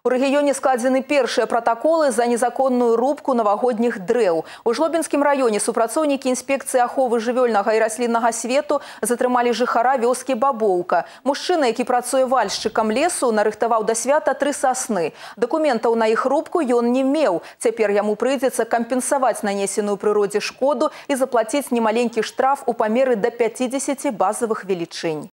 У рэгіёне складзены першыя пратаколы за незаконную рубку навагодніх дрэў. У Жлобінскім раёне супрацоўнікі інспекцыі аховы жывёльнага і расліннага свету затрымалі жыхара вёскі Бабоўка. Мужчына, які працуе вальшчыкам лесу, нарыхтаваў да свята 3 сасны. Дакументаў на іх рубку ён не меў. Цяпер яму прыйдзецца кампенсаваць нанесеную прыродзе шкоду і заплаціць немаленькі штраф у памеры да 50 базавых велічынь.